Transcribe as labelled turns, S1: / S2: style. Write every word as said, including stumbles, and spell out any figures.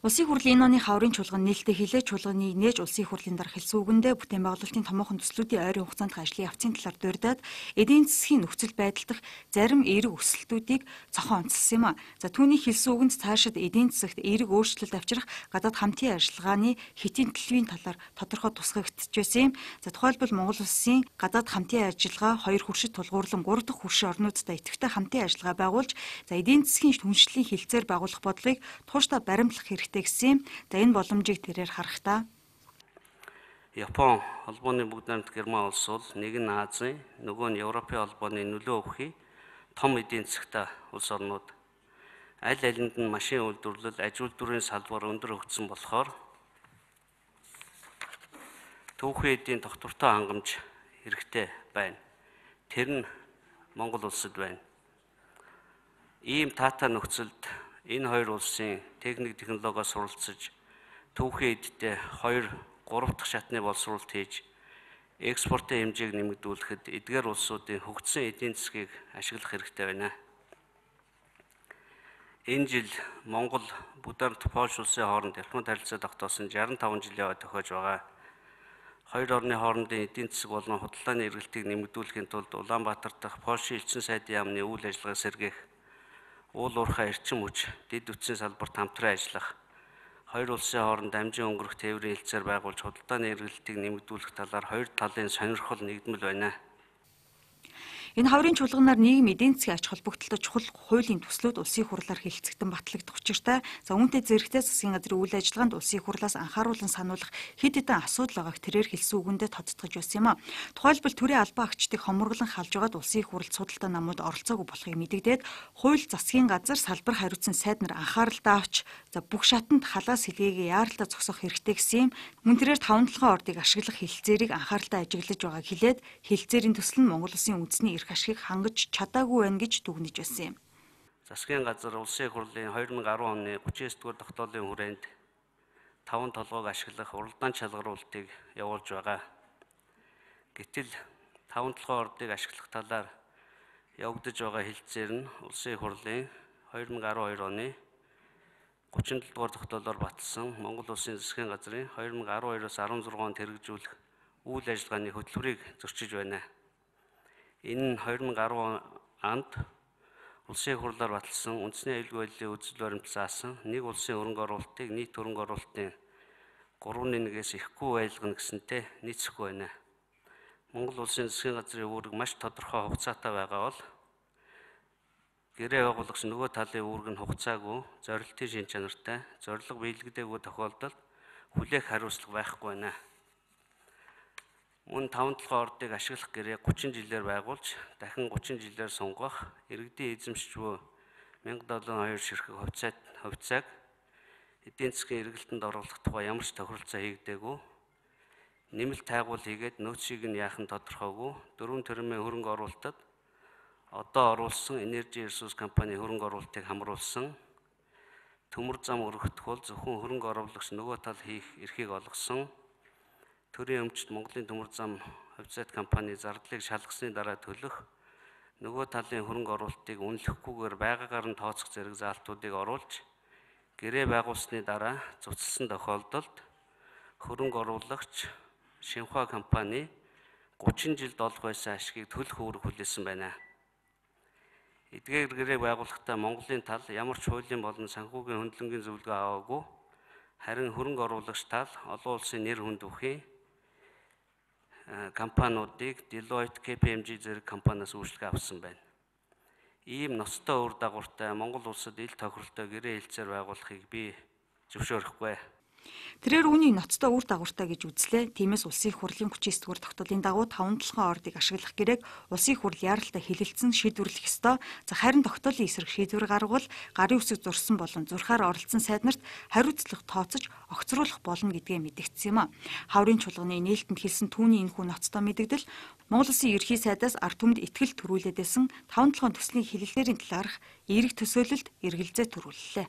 S1: Улсын хурлын энэ оны хаврын чуулган нээлттэй хилээ чуулганы нээж улсын хурлын дарга хэлсэн үгэндээ бүтээн байгуулалтын томоохон төслүүдийн ойрын хугацаанд ажлын явцын талаар дурдаад эдийн засгийн нөхцөл байдал дах зарим эерэг өсөлтүүдийг цохон онцлсан юм а. За түүний хэлсэн үгэнд цаашид эдийн засагт эерэг өөрчлөлт авчрах гадаад хамтын ажиллагааны хэтийн төлөвийн талаар тодорхой тусгагдчихжээ юм. За тухайлбал Монгол улсын гадаад хамтын ажиллагаа хоёр хуршид тулгуурлан гурав дахь хуршин орнуудтай идэвхтэй хамтын ажиллагаа байгуулж за эдийн засгийн түншлэлийн хилцээр байгуулах бодлогыг тууштай баримтлах хэрэгтэй гэсэн. За энэ боломжийг тэрээр харахтаа
S2: Япон холбооны бүгд найрамд Герман улс бол нэг нь Азийн, нөгөө нь Европын холбооны нөлөө өгөхий том эдийн засагтай улс орнууд. Аль алинд нь машин үйлдвэрлэл, аж үйлдвэрийн салбар өндөр хөгжсөн болохоор түүхэн эдийн тогтвортой хангамж хэрэгтэй байна. Тэр нь Монгол улсад байна. Ийм таатай нөхцөлд энэ хоёр улсын техник технологиос суралцж түүхэн эдтэй хоёр гурав дахь шатны боловсруулалт хийж экспортын хэмжээг нэмэгдүүлэхэд эдгээр улсуудын хөгжсөн эдийн засгийг ашиглах хэрэгтэй байна. Энэ жил Монгол бүгд найрамд Польш улсын хооронд ялхмад харилцаа тогтоосон шестьдесят five жилийн хойд тохиож байгаа. Хоёр орны хоорондын эдийн засаг болон худалдааны эргэлтийг нэмэгдүүлэхийн тулд Улаанбаатар дахь Польшийн элчин сайдын яамны үйл ажиллагаа сэргээх, уул уурхай эрчим хүч, дэд үтсийн салбарт хамтран ажиллах, хоёр улсын хооронд дамжин өнгөрөх тээврийн хэлцээр байгуулж худалдааны эргэлтийг нэмэгдүүлэх талаар хоёр талын сонирхол нэгдмэл байна.
S1: Энэ хаврын чуулганаар нийгэм эдийн засгийн ач холбогдолтой чухал хуулийн төслүүд улсын хурлаар хэлэлцэгдэн батлагдах учиртай. За үүнтэй зэрэгтэй засгийн газрын үйл ажиллагаанд улсын хурлаас анхааруулан сануулах хэд хэдэн асуудал байгааг тэрээр хэлсэн үгэндээ тодтогч байсан юм а. Тухайлбал төрийн албан агчдыг хоморглон халж байгаад улсын хурлд судалтай намууд оролцоогүй болохыг мэдэгдээд хууль засгийн газар салбар хариуцсан сайд нар анхааралтай авч за бүх шатанд халаас хэлгээгээ яаралтай зогсоох хэрэгтэй гэсэн юм. Мөн тэрээр таван толгойн ордыг ашиглах хэлэлцээрийг анхааралтай ажиглаж байгааг хэлээд хэлэлцээрийн төсөл нь Монгол улсын үндэсний эрх ашигыг хангаж чадаагүй байна гэж дүгнэж байсан юм.
S2: Засгийн газар улсын хурлын two thousand ten оны thirty-nine дугаар тогтоолын хүрээнд таван толгойг ашиглах уралдаан шалгаруулалтыг явуулж байгаа. Гэтэл таван толгойн ордыг ашиглах талаар явагдаж байгаа хэлэлцээр нь улсын хурлын two thousand twelve оны thirty-seven дугаар тогтоолоор баталсан Монгол улсын засгийн газрын two thousand twelve-оос sixteen онд хэрэгжүүлэх үйл ажиллагааны хөтөлбөрийг зөрчиж байна. Энэ нь two thousand ten онд улсын хурлаар баталсан үндэсний аюулгүй байдлын үзэл баримт заасан нэг улсын хөрөнгө оруулалтыг нийт хөрөнгө оруулалтын three нэгээс ихгүй байлгана гэсэнтэй нийцэхгүй байна. Монгол улсын засгийн газрын үүрэг маш тодорхой хугацаатай байгаа бол гэрээ байгуулагч нөгөө талын үүрэг нь хугацаагүй, зорилтын шин чанартай, зорилго биелэгдээгүй тохиолдолд хүлээх хариуцлага байхгүй байна. Мөн таван толгойн ордыг ашиглах гэрээ thirty жилээр байгуулж, дахин thirty жилээр сунгах, иргэдийн эзэмшиж буй one thousand seven hundred two ширхэг хувьцаат хувьцааг эдийн засгийн эргэлтэнд оруулах тухай ямар ч тохиролцоо хийгдээгүй, нэмэлт тайгуул хийгээд нөөцийг нь яахан тодорхойгүй, дөрвөн төрөмийн хөрөнгө оруулалтад одоо оруулсан Energy Resource компани хөрөнгө оруулалтыг хамруулсан, төмөр зам өргөхдөх бол зөвхөн хөрөнгө оруулагч нөгөө тал хийх эрхийг олгосон, төрийн өмчт Монголын төмөр зам хувьцаат компани зардлыг шалгасны дараа төлөх, нөгөө талын хөрөнгө оруулалтыг үнэлэхгүйгээр байгаагаар нь тооцох зэрэг заалтуудыг оруулж, гэрээ байгуулсны дараа цуцлсан тохиолдолд хөрөнгө оруулагч Шинхua компани thirty жилд олох байсан ашгийг төлөх үүрэг хүлээсэн байна. Эдгээр гэрээ байгуулахдаа Монголын тал ямар ч хуулийн болон санхүүгийн хөндлөнгийн зөвлөгөө аваагүй, харин хөрөнгө оруулагч тал олон улсын нэр хүнд бүхий компаниудыг Deloitte, K P M G зэрэг компаниас үйлчлэг авсан байна. Ийм ноцтой үр дагавартай Монгол улсад ил тохиролтой гэрээ хэлцээр байгуулахыг би зөвшөөрөхгүй.
S1: Тэрээр үүнийг ноцтой үр дагавартай гэж үзлээ. Тиймээс улсын хурлын thirty-nine дугаар тогтоолын дагуу таван толгойн ордыг ашиглах гэрээг улсын хурл яаралтай хэлэлцэн шийдвэрлэх ёстой. За харин тогтоолын эсрэг шийдвэр гаргавал гарын үсэг зурсан болон зурхаар оролцсон сайд нарт хариуцлага тооцож огцруулах болно гэдгээ мэдэгдсэн юм а. Хаврын чуулганы нээлтэнд хэлсэн түүний энэхүү ноцтой мэдэгдэл Монгол улсын ерхий сайдаас ард түмэд итгэл төрүүлээд байсан таван толгойн төслийн хэлэлцээрийн талаарх эерэг төсөөлөлд эргэлзээ төрүүллээ.